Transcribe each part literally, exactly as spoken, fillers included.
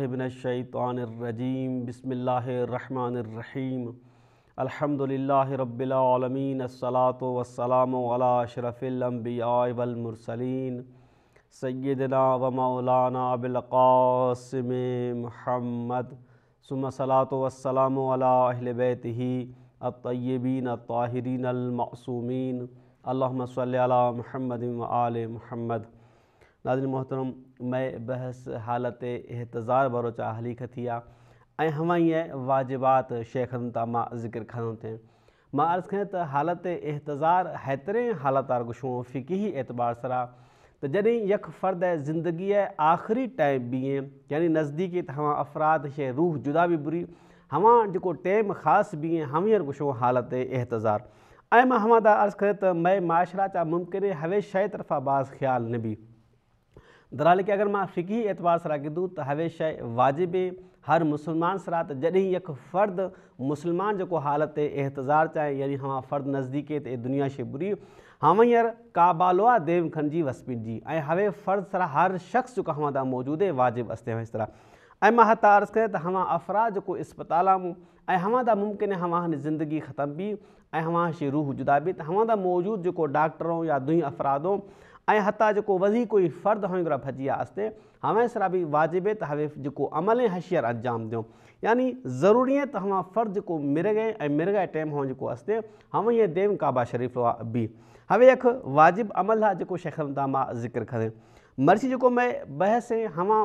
बिल्लाहि मिनश्शैतानिर्रजीम। बिस्मिल्लाहिर्रहमानिर्रहीम। अल्हम्दुलिल्लाहि रब्बिल आलमीन। अस्सलातु वस्सलामु अला अशरफिल अंबिया वल मुरसलीन सय्यिदना व मौलाना अबिल क़ासिम मुहम्मद सुम्मा सलातु वस्सलामु अला अहले बैतिही अत्तय्यिबीन अत्ताहिरीन अल मासूमीन। अल्लाहुम्मा सल्लि अला मुहम्मद व आले मुहम्मद। नाज़रीन मोहतरम, मैं बहस हालत एहतज़ार बरोचा हली खथिया ऐं हवाईअ वाजिबात शेखनि तां मां ज़िक्र खणो थे। मां अर्ज़ कयां त हालत एहतज़ार हेतिरे हालत गुशो फ़िक़ही एतबार सरा त जॾहिं यक फ़र्द ज़िंदगीअ आख़िरी टाइम बीहे, यानी नज़दीकी त हवा अफ़राद शे रूह जुदा बि बुरी हवा जेको टाइम ख़ासि बीहे हवीअ गुशो हालत एहतज़ार। ऐं मां हवा ता अर्ज़ कयो त मैं माशरा चा मुमकिन हवे शइ तरफ़ा बाज़ ख़्याल न बि दराल के अगरि मां फ़िक़ही एतबार सरा गिदूं त हवे शइ वाजिब हर मुसलमान सरा त जॾहिं यक फ़र्द मुसलमान जेको हालत एहतज़ार चाहे, यानी हवा फ़र्द नज़दीके त दुनिया शे बुरी हवैंर काबालोआ देव खंजी वसपिन जी ऐं हवे फ़र्द सरा हर शख़्स जेको हवा मौजूद है वाजिब अस्ते हवे सरा। ऐं मां हता अर्ज़ कयो त हवा अफ़राद जेको अस्पताल ऐं हवा दा मुमकिन हवा ज़िंदगी ख़त्म बि ऐं हवा शे रूह जुदा बि त हवा दा मौजूद जेको डॉक्टरों या दुई अफ़रादों ऐं हता जेको वधी कोई फ़र्द हवे भजी आस्ते हवे सरा बि वाजिब है त हवे जेको अमल हशियर अंजाम दियो, यानी ज़रूरी है त हवा फ़र्द जेको मिर गए ऐं मिर गए टाइम हवा जेको आस्ते हवे देव काबा शरीफ़ बि हवे यख वाजिब अमल आहे जेको शेख मां ज़िक्र करे। मर्सी जेको मैं बहस हवा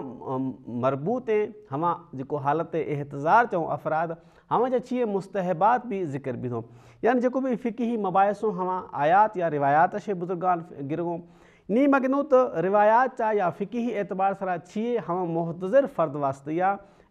मरबूत है हवा जेको हालत एहतज़ार चऊं अफ़राद हवा जा छीह मुस्तहबात भी ज़िक्र बि थो, यानी जेको बि फ़िक़ही मबाहिसो हवा आयात या रिवायात शे बुज़ुर्गान गिरगो नी मगिनो त रिवायात चा या फ़िक़ही एतबार सरा छीह हवा मुहतज़िर फ़र्द वास्ते या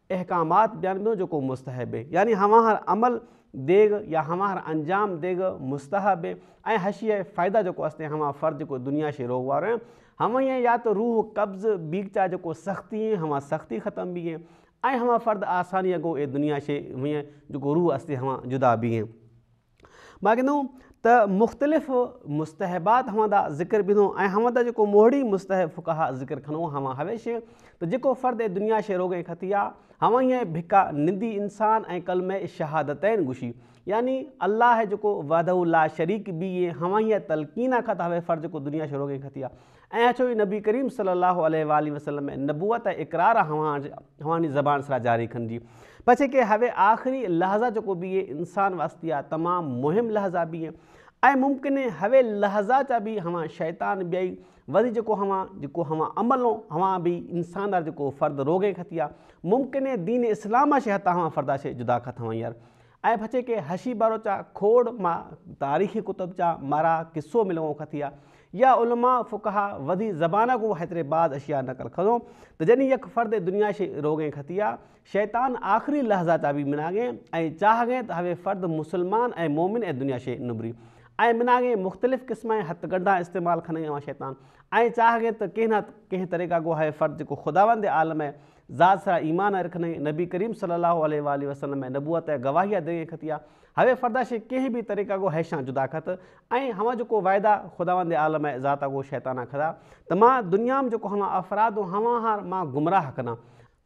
अहकामात बयान बि जेको मुस्तहब है, यानी हवा हर अमल देग या हवा हर अंजाम देग मुस्तहब है ऐं हशीअ फ़ाइदा जेको आस्ते हवा फ़र्द जेको दुनिया शे रोग वारो हवा या त रूह कब्ज़ बीग चा जेको सख़्ती है हवा सख़्ती ख़त्म बि है ऐं हवा फ़र्द आसानी अगो ए दुनिया शे हुअं जेको रूह आस्ते हवा जुदा बि है। मां गिनो त मुख़्तलिफ़ मुस्तहबात हवा दा ज़िक्र बि थो ऐं हवा दा जेको मोहड़ी मुस्तहब फुक़हा ज़िक्र खणो हवा हवे त जेको फ़र्द दुनिया शे रोग खती आहे हवा ईअं भिका निंदी इंसान ऐं कलमे शहादतैन गुशी, यानी अल्लाह जेको वहदहू ला शरीक बि हवा ईअं तलकीन खां त हवे फ़र्द जेको दुनिया शे रोग खती आहे ऐं अचो नबी करीम सल्लल्लाहु अलैहि वसल्लम नबूअत इकरार हवा हवानी ज़बान सरा जारी खंजी पछे के हवे आख़िरी लहज़ा जेको बि इंसान वास्ते आहे तमामु मुहिम लहज़ा बि ऐं मुमकिन हवे लहज़ा चा बि हवा शैतान ॿियई वरी जेको हवा जेको हवा अमलो हवा बि इंसान वारो जेको फ़र्द रोगे खती आहे मुमकिन दीन इस्लाम शे हथा हवा फ़र्दा शे जुदा खत हवा यार। ऐं पछे के हशी बारो चा खोड़ मां तारीख़ी कुतुब चा मारा किस्सो मिलो खती आहे या उलमा फुक़हा वधी ज़बाना को हेतिरे बाद अशिया नकल खणो त जॾहिं यक फ़र्द दुनिया शे रोगे खती आहे शैतान आख़िरी लहज़ा चा बि मिनागे ऐं चाहगे त हवे फ़र्द मुसलमान ऐं मोमिन ऐं दुनिया शे निबरी ऐं मिनागे मुख़्तलिफ़ क़िस्म जा हथकंडा इस्तेमाल खणी हवा शैतान ऐं चाहगे त कंहिं न कंहिं तरीक़ा को हवे फ़र्द जेको ख़ुदावंद आलम है ज़ात सरा ईमान रखने नबी करीम सल्लल्लाहु अलैहि वसल्लम नबूअत गवाहिया दे खती आहे हवे फ़र्दा शे कंहिं बि तरीक़ा को हैशा जुदा खत ऐं हवा जेको वाइदा ख़ुदावंद आलम ज़ात को शैताना खदा त मां दुनिया में जेको हवा अफ़राद हवा हार मां गुमराह कना।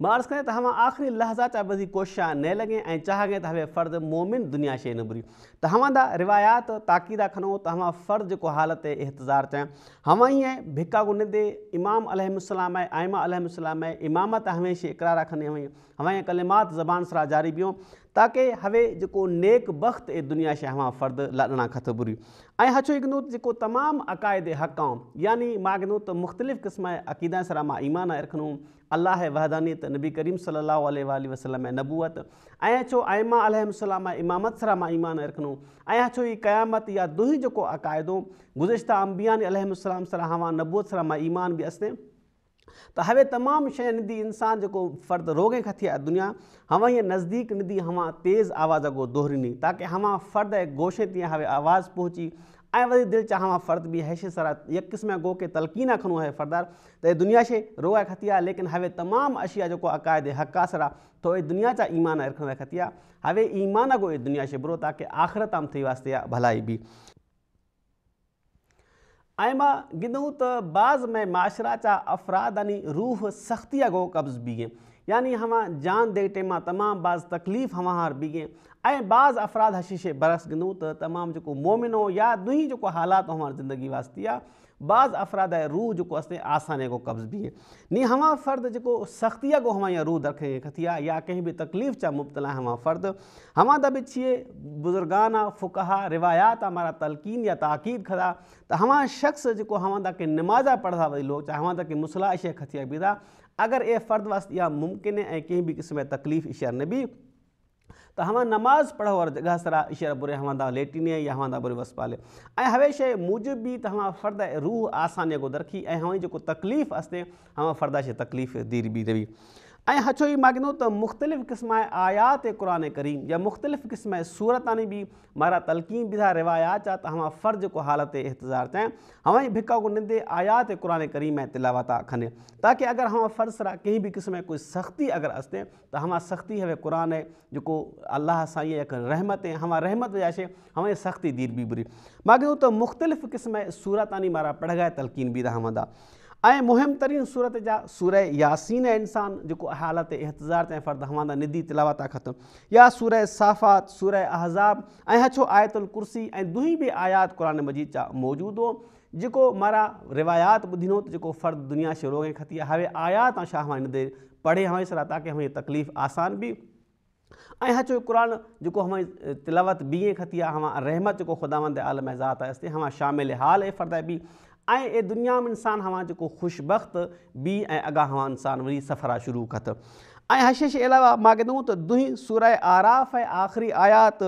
मां अर्ज़ कयां त हवा आख़िरी लहज़ा चा वधी कोशिश न लॻे ऐं चाहगे त हवे फ़र्द मोमिन दुनिया शे निबरी त हवा दा रिवायात ताक़ीदा खणो त हवा फ़र्द जेको हालत एहतज़ार चाहे हवा ईअं भिका को निंदे इमाम अलैहिस्सलाम ऐं आइमा अलैहिस्सलाम ऐं इमामत हमेशह इकरार खणी हवा हवा कलिमात ज़बान सरा जारी पियो ताकि हवे जेको नेक बख़्त ए दुनिया शे हवा फ़र्द लाॾणा खत बुरी। ऐं हचो गिनो जेको तमामु अक़ाइद हक़ यानी मां गिनो त मुख़्तलिफ़ क़िस्म जा अक़ीदा सरा मां ईमान रखणो अल्लाह वहदानियत नबी करीम सल्लल्लाहु अलैहि वसल्लम नबूअत ऐं अचो आइमा अलैहिस्सलाम इमामत सरा मां ईमान रखणो ऐं अचो ई क़यामत या दुही जेको अक़ाइदो गुज़िश्ता अंबिया अलैहिस्सलाम सरा हवा नबूअत सरा मां ईमान बि अस्ते त हवे तमामु शइ निदी इंसान जेको फ़र्द रोगे खती आहे दुनिया हवा ईअं नज़दीक निदी हवा तेज़ आवाज़ को दोहरीनी ताकि हवा फ़र्द गोशे तीअं हवे आवाज़ पहुची ऐं वरी दिलि चा हवा फ़र्द बि हैशे सरा यक क़िस्म गो के तलकीना खणो आहे फ़र्दार त दुनिया शे रोग खती आहे लेकिन हवे तमामु अशिया जेको अक़ाइद हक़ सरा तो दुनिया चा ईमान रखण खती आहे हवे ईमान को दुनिया शे बुरो ताकि आख़िरत आम थी वास्ते भलाई बि। ऐं मां गिदूं त बाज़ में माशरा चा अफ़राद यानी रूह सख़्तीअ को कब्ज़ बि यानी हवा जान दे टेमा तमाम बाज़ तकलीफ़ हवा हार बीगे ऐं बाज़ अफ़राद हशीशे बरस गिंदूं त तमाम जेको मोमिनो या दुही जेको हालात हमारी ज़िंदगी वास्ते आहे बाज़ अफ़राद रूह जेको असते आसानी को कब्ज़ भी है नी हवा फ़र्द जेको सख़्तिया को हवा रूह दरखे खथी आहे या कंहिं बि तकलीफ़ चा मुब्तला हवा फ़र्द हवा दा बि छिए बुज़ुर्गाना फ़ुक़हा रिवायात हमारा तलकीन या ताक़ीद खदा त हवा शख़्स जेको हवा दा के नमाज़ा पढ़दा वरी लोग चाहे हवा दा के मुसला इशे खथिया बीदा अगर ए फ़र्द वास्ते इहा मुमकिन है ऐं कंहिं बि क़िस्म जी तकलीफ़ इशा न बि त हवा नमाज़ पढ़ो और जगह सरा इशा बुरे हवा दा लेटिने या हवा दा बुरे वस पाले ऐं हवे शइ मूजिब बि त हवा फ़र्द रूह आसानीअ को दरखी ऐं हवा जेको तकलीफ़ अस्ते हवा फ़र्दा शइ तकलीफ़ दीर बि रही। ऐं हछो ई मागिनो त मुख़्तलिफ़ क़िस्म आयात क़ुरान करीम या मुख़्तलिफ़ क़िस्म सूरतानी बि मारा तलकीन बि था रिवायात चा त हवा फ़र्ज़ जेको हालत इहतज़ार चाहे हवा ई भिका को निंदे आयात क़ुरान करीम ऐं तिलावत खने ताकि अगर हवा फ़र्ज़ सरा कंहिं बि क़िस्म कोई सख़्ती अगर अस्ते त हवा सख़्ती हवे क़ुरान है जेको अलाह साईं एक रहमत है हवा रहमत वजह हवा सख़्ती दीर बि बुरी मागिनो त मुख़्तलिफ़ क़िस्म सूरतानी मारा पढ़ तलकीन बि था हवा दा। ऐं मुहिम तरीन सूरत जा सूरह यासीन है इंसान जेको हालत इहतज़ार चाहे फ़र्द हवा दा निदी तिलावत ख़त्म या सूरह साफ़ात सूरह अहज़ाब ऐं हछो आयतुल कुर्सी ऐं दुही बि आयात क़ुरान मजीद जा मौजूद हो जेको मारा रिवायात ॿुधिनो त जेको फ़र्द दुनिया से रोगे खती हवे आयात ऐं छा हवा निदे पढ़े हवा सरा ताकि हमें तकलीफ़ आसान बि ऐं हचो क़ुरान जेको हमें तिलावत बि खती आहे हवा रहमत जेको ख़ुदावंद आलम ज़ात आहे हवा शामिल हाल फ़र्द बि ऐं ए दुनिया में इंसान हवा जेको ख़ुशबख़्त बि ऐं अॻां हवा इंसान वरी सफ़रा शुरू कत। ऐं हशे अलावा मां गिंदूं त दुही सूरह आराफ़ ऐं आख़िरी आयात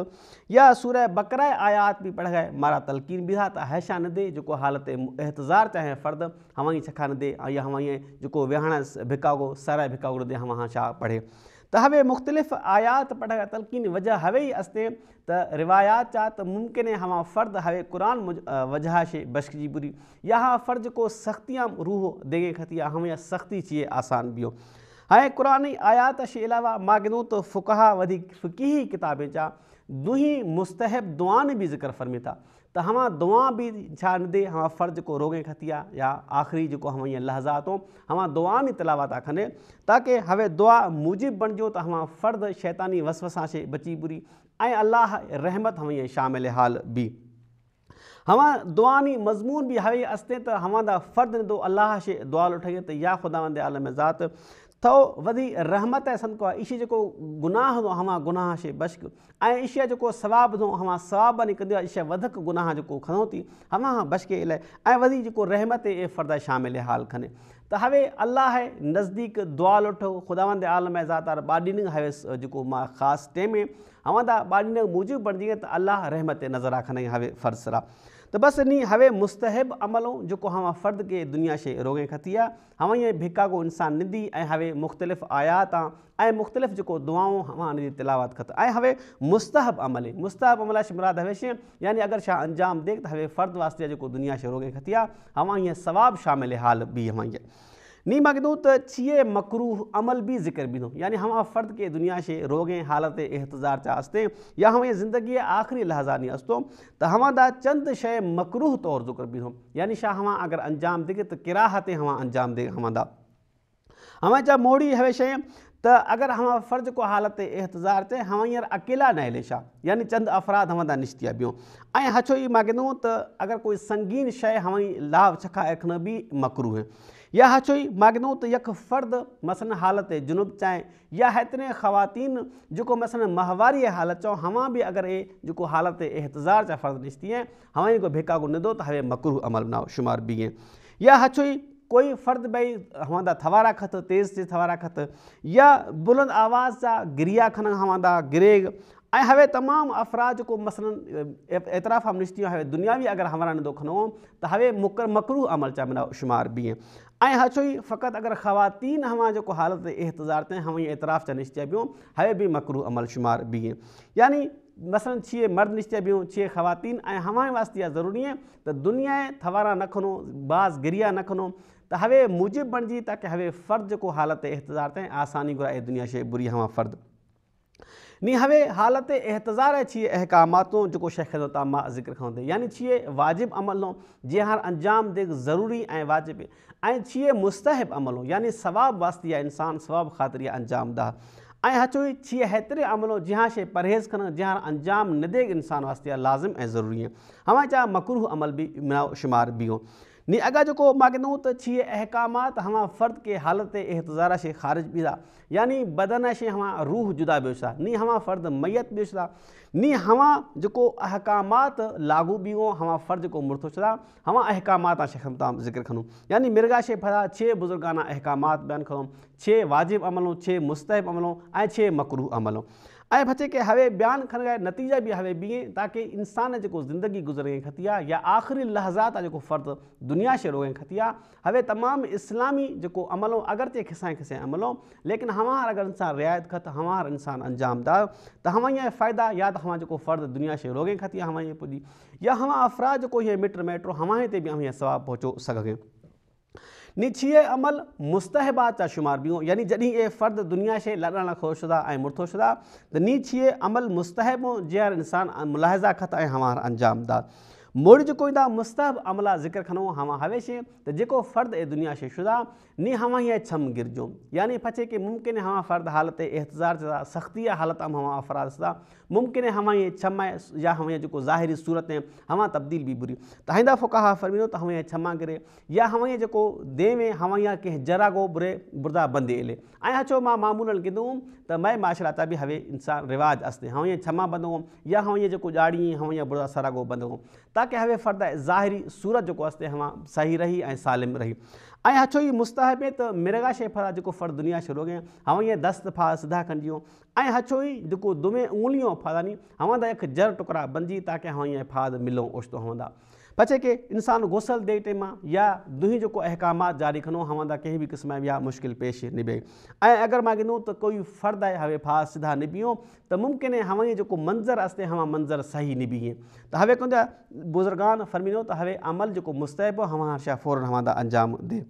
या सूरह बकरा आयात बि पढ़ गए मारा तलकीन बि था त हशा न दे जेको हालत इहतज़ार चाहे फ़र्द हवा ई छखा न दे या हवा ई जेको विहाण भिकागो सर भिकागो दे हवा छा पढ़े त हवे मुख़्तलिफ़ आयात पढ़ तलकीन वजह हवे ई अस्ते त रिवायात चा त मुमकिन है हवा फ़र्द हवे क़ुरान वजह शे बश्क जी बुरी या हा फ़र्ज़ को सख़्तियाँ रूह देगे खतिया हमें सख़्ती चाहिए आसान बि हो। हाणे क़ुरानी आयात शे अलावा मां गिंदूं त फ़ुक़हा वधीक फ़िक़ही किताबें चा दुही मुस्तहब दुआन बि ज़िक्र फरमे था त हवा दुआ बि छा न दे हवा फ़र्ज़ को रोगे खतिया या आख़िरी जेको हवा ईअं लहज़ात हो हवा दुआ नी तिलावत खने ताकि हवे दुआ मूजिब बणिजो त हवा फ़र्द शैतानी वसवसा शे बची बुरी ऐं अलाह रहमत हवा ईअं शामिल हाल बि हवा दुआनी मज़मून बि हवे अस्ते त हवा दा फ़र्द निदो अलाह शे दुआ लुठई त या ख़ुदावंद आलम ज़ात थो वधी रहमत है संको इशी जेको गुनाह हूंदो हवा गुनाह शे बश्क ऐं इशिया जेको सवाब हूंदो हवा सवाब नहीं कंदो इशिया वधिक गुनाह जेको खणो थी हवा बश्के इलाए ऐं वधी जेको रहमत ए फ़र्द शामिल हाल खने त हवे अलाह नज़दीक दुआ लुठो ख़ुदावंद आलम ज़ात ॿाॾिन हवे जेको मां ख़ासि टेम हवा दा ॿाॾिन मूजिब बणिजी त अलाह रहमत नज़र खणे हवे फ़र्ज़ सरा त बसि नी हवे मुस्तहब अमलो जेको हवा फ़र्द खे दुनिया शे रोगे खती आहे हवा ईअं भिका को इंसान निंदी ऐं हवे मुख़्तलिफ़ आयात ऐं मुख़्तलिफ़ जेको दुआऊं हवा हुन जी तिलावत खत ऐं हवे मुस्तहब अमल मुस्तहब अमल मुराद हवे शइ यानी अगरि छा अंजाम दे त हवे फ़र्द वास्ते जेको दुनिया शे रोगे खती आहे हवा ईअं सवाब शामिल हाल बि हवा ईअं नी मां गिंदूं त छिए मकरूह अमल बि ज़िक्र बींदो यानी हवा फ़र्द खे दुनिया शे रोगे हालत इहतज़ार चा अस्ते या हवा ज़िंदगी आख़िरी लहज़ा नी अस्तो त हवा दा चंद शइ मकरूह तौर ज़िक्र बींदो यानी छा हवा अगरि अंजाम दे त किराहत हवा अंजाम दे हवा दा हवा चा मोड़ी हवे शइ त अगरि हवा फ़र्ज़ को हालत इहतज़ार ते हवा हींअर अकेला न हले छा यानी चंद अफ़राद हवा दा निश्तिया ॿियो ऐं हछो ई मां गिंदूं त अगरि कोई संगीन शइ हवा ई लाभ छखा रखणु बि मकरूह है या हछो ई मां गिंदूं त यख फ़र्द मसलन हालत जुनूब चाहे या हेतिरे ख़वातीन जेको मसलन माहवारी हालत चओ हवा बि अगरि ए जेको हालत इहतज़ार जा फ़र्द निश्ती है हवा ई को भिका को निंदो त हवे मकरूह अमल न शुमार बि है या हछो ई कोई फ़र्द भई हवा दा थवारा खत तेज़ तेज़ थवारा खत या बुलंद आवाज़ जा गिरिया खन हवा दा गिरेग ऐं हवे तमामु अफ़राद जेको मसलन एतिराफ़ हम निश्ती हवे दुनियावी अगरि हमारा निंदो खणो त हवे मुकर मकरूह अमल चा मिना शुमार बि ऐं हछो ई फ़क़ति अगरि ख़वातीन हवा जेको हालत इहतज़ार ते हवा एतिराफ़ चा निश्तिया ॿियो हवे बि मकरूह अमल शुमार बि यानी मसलन छिए मर्द निश्चय ॿियो छिए ख़वातीन ऐं हवा वास्ते इहा ज़रूरी है त दुनिया थवारा न खणो बाज़ गिरिया न खणो त हवे मूजिब बणिजी ताकि हवे फ़र्द जेको हालत इहतज़ार ते आसानी घुराए दुनिया शे बुरी हवा फ़र्द। नी हवे हालत एहतज़ार छे अहकामातों जो शेख मा ज़िक्र खंदे यानी छे वाजिब अमलों जंहिं अंजाम दे ज़रूरी ऐं वाजिब ऐं छे मुस्तहब अमलों यानी सवाब वास्ते या इंसान सवाब ख़ातिर या अंजाम दा ऐं हचो छे हेतिरे अमलों जंहिं शइ परहेज़ करण जंहिं अंजाम न दे इंसान वास्ते लाज़िम ऐं ज़रूरी है। हवा चा मकरूह अमल भी शुमार भी हो। नी अगर जो मां कहूँ तो छे अहकामात हवा फ़र्द के हालत एहतज़ार से ख़ारिज भी था यानी बदन से हवा रूह जुदा भी था नी हवा फ़र्द मैयत भी था नी हवा जो अहकामात लागू भी हो हवा फ़र्द को मुर्थो था हवा अहकामात शेख ज़िक्र खणूं यानी मिर्गा शे फरा छे बुज़ुर्गाना अहकामात बयान खणूं छे वाजिब अमलों छे मुस्तहब अमलों ऐं छे मकरूह अमलों ऐं बचे के हवे बयान खण नतीजा भी हवे बीहे ताकि इंसान जो ज़िंदगी गुज़रे खतिया या आख़िरी लहज़ात जो फ़र्द दुनिया से रोए खतिया हवे तमाम इस्लामी जो अमलों अगरचे खिसाए खिसाए अमलों लेकिन हमार अगर इंसान रियायत खत हमार इंसान अंजाम दा तो हवा फ़ायदा या तो हवा जो फ़र्द दुनिया से रोगे खतिया हवा पुॼी या हवा अफ़राद जो इहे मिट मेटो हवा ते भी हवा सवाब पहुचो सघे। नी छे अमल मुस्तहबात चा शुमार भी हो यानी जॾहिं ए फ़र्द दुनिया से लॾण खोशदा ऐं मुर्थोशदा त नी छे अमल मुस्तहब हो जंहिं इंसान मुलाहिज़ा खत ऐं हमार अंजाम दा। मोड़ जेको ईंदा मुस्तहब अमला ज़िक्र खणो हवा हवेशे त जेको फ़र्द ए दुनिया से शुदा नी हवा हीअं छम गिरजो यानी पचे कि मुमकिन हवा फ़र्द हालत एहतज़ार सख़्ती हालत में हवा अफ़राद सदा मुमकिन हवा हीअं छम या हवा जेको ज़ाहिरी सूरत हवा तब्दील भी बुरी त आइंदा फ़ुक़हा फरमीनो त हवा छमा गिरे या हवा जेको देवे हवा कंहिं जरागो बुरे बुर्दा बंदे इले ऐं हचो मां मामूलन कंदो त मैं माशरा ता भी हवे इंसान रिवाज अस्ते हवा छमा बंदो या हवा जेको ॼाड़ी हवा बुर्दा सरागो बंदो ताकि हवे फ़र्द ज़ाहिरी सूरत जेको अस्ते हवा सही रही ऐं सालिम रही। ऐं हचो ई मुस्तहब त मिर्गा शे फरा जेको फ़र्द दुनिया से रोगे हवा ईअं दस्त फा सिधा खंजियो ऐं हचो ई जेको दुमे उंगलियों फादानी हवा दा एक जर टुकड़ा बणजी ताकि हवा ईअं फाद मिलो ओचितो हवंदा। पचे के इंसान गुसल दे टेम या दुही जेको अहकामात जारी खणो हवंदा कंहिं बि क़िस्म या मुश्किल पेश निभे ऐं अगरि मां गिनूं त कोई फ़र्द आहे हवे फा सिधा निभियो त मुमकिन है हवा जेको मंज़र अस्ते हवा मंज़र सही निभिए त हवे कंदा बुज़ुर्गान फरमीनो त हवे अमल जेको मुस्तहब हवा शा फ़ौरन हवंदा अंजाम दे।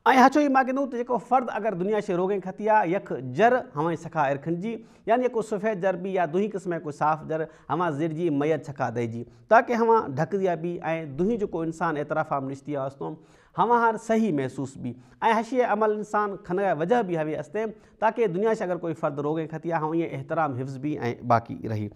ऐं हचो ई मां गिनूं त जेको फ़र्द अगरि दुनिया से रोगे खतिया यख जर हवा सखा इरखंजी यानी जेको सफ़ेद जर बि या दुही क़िस्म को साफ़ जर हवा ज़िरजी मैयत छका दईजी ताकि हवा ढकदिया बि ऐं दुही जेको इंसान एतराफ़ निश्ती आस्तो हवा हर सही महसूस भी ऐं हशी अमल इंसान खण वजह भी हवे अस्ते ताकि दुनिया से अगरि कोई फ़र्द रोगे खतिया हवा ईअं एहतराम हिफ़्ज़ भी ऐं बाक़ी रही।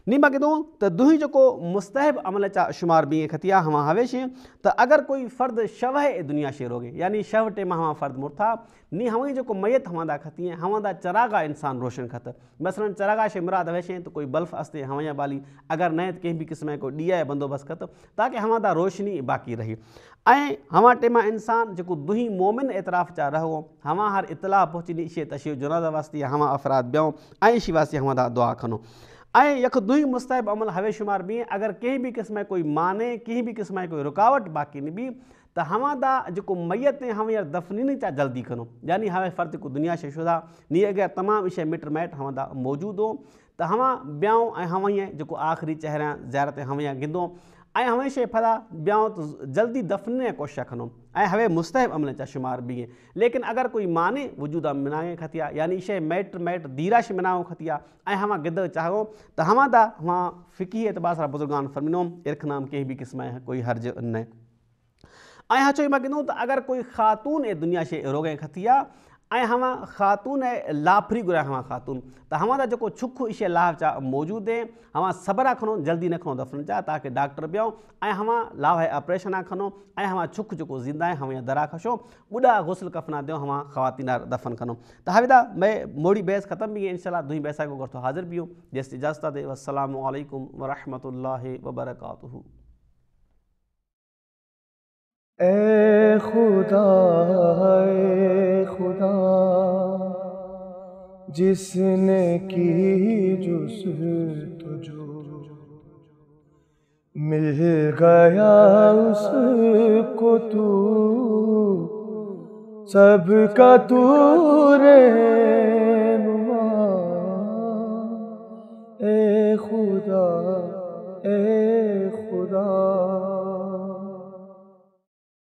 नी मां गिनूं त दुही जेको मुस्तहब अमल चा शुमार बि खतिया हवा हवेशे त अगरि कोई फ़र्द शव दुनिया से रोगे यानी शव टेम हवा फ़र्द मुर्था नी हवा जेको मैयत हवंदा खती हवंदा चरागा इंसान रोशन खत मसलन चरागा शे मुराद हवेशे त कोई बल्ब अस्ते हवा बाली अगरि न त कंहिं बि क़िस्म को ॾिया बंदोबस्त खत ताकि हवंदा रोशनी बाक़ी रही। ऐं हवा टेम इंसान जेको दुही मोमिन एतराफ़ चा रहो हवा हर इतला पहुची नी इशे तशे जनाज़ा वास्ते हवा अफ़राद ॿियो ऐं इशी वास्ते हवंदा दुआ खणो। ऐं यख दुही मुस्तहब अमल हवे शुमार बि अगरि कंहिं बि क़िस्म कोई माने कंहिं बि क़िस्म कोई रुकावट बाक़ी न बि त हवा दा जेको मैयत हवा दफ़नी चा जल्दी खणो यानी हवे फ़र्द जेको दुनिया से शुदा नी अॻियां तमामु शइ मिट माइट हवा दा मौजूदु हो त हवा ॿियो ऐं हवा जेको आख़िरी चेहरा ज़ियारत हवा गिंदो ऐं हवा शइ फला ॿियो त जल्दी दफ़ने जी कोशिश खणो ऐं हवे मुस्तहब अमल चा शुमार बि लेकिन अगरि कोई माने वजूद मिनाए खतिया यानी शइ मैट मैट दीरा शइ मिनाओ खतिया ऐं हवा गिद चाहो त हवा दा हवा फ़िकी एतबार सां बुज़ुर्गान फरमिनो इरखनाम कंहिं बि क़िस्म कोई हर्ज न। ऐं हचो मां गिनूं त अगरि कोई ख़ातून ए दुनिया से रोगे खतिया ऐं हवा ख़ातून लाफरी घुराए हवा ख़ातून त हवा दा जेको छुख इशे लाह चा मौजूद है हवा सबरा खणो जल्दी न खणो दफ़न चा ताकि डॉक्टर ॿियो ऐं हवा लाह ऑपरेशन खणो ऐं हवा छुख जेको ज़िंदा आहे हवा दरा खशो ॿुॾा गुस्ल कफ़ना दियो हवा ख़वातीन दफ़न खणो। त हविदा मैं मोड़ी बहस ख़त्म भी इंशाअल्लाह दुई बहस को गर्थो हाज़िर भी हूँ जैसे इजाज़त दे। वस्सलामु अलैकुम वरहमतुल्लाहि वबरकातुहू। ए खुदा ए खुदा जिसने की जुस्तजू मिल गया उसको तू सबका तू रहनुमा। ए खुदा ए खुदा।